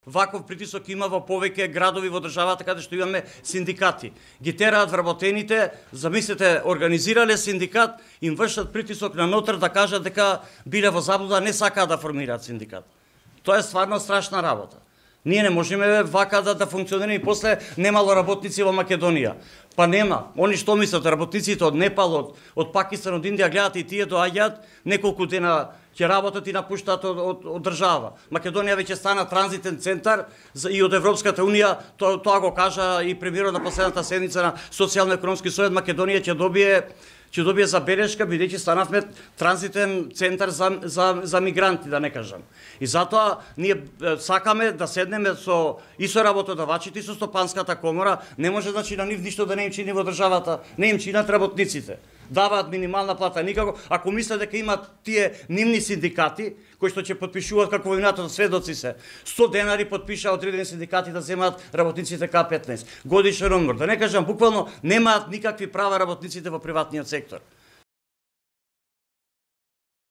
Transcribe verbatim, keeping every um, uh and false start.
Ваков притисок има во повеќе градови во државата каде што имаме синдикати. Ги тераат вработените, замислете, организирале синдикат, им вршат притисок на нотар да кажат дека биле во заблуда, не сакаат да формираат синдикат. Тоа е стварно страшна работа. Ние не можеме вака да, да функционираме и после немало работници во Македонија. Па нема. Они што мислат, работниците од Непал, од, од Пакистан, од Индија гледат и тие доаѓаат, неколку дена ќе работат и напуштаат од, од, од држава. Македонија веќе стана транзитен центар за, и од Европската унија, тоа, тоа го кажа и премиерот на последната седница на Социјално-економски совет. Македонија ќе добие ќе добие забелешка, бидејќи станавме транзитен центар за, за, за мигранти, да не кажам. И затоа ние сакаме да седнеме со и со работодавачите, и со Стопанската комора. Не може, значи, на нив ништо да не им чини во државата, не им чинат работниците. Даваат минимална плата никако. Ако мислат дека имат тие нивни синдикати, кои што ќе подпишуваат како во минатото сведоци се, сто денари подпишаа одредени синдикати да земаат работниците К петнаесет. Годишен одмор. Да не кажам, буквално немаат никакви права работниците во приватниот сектор.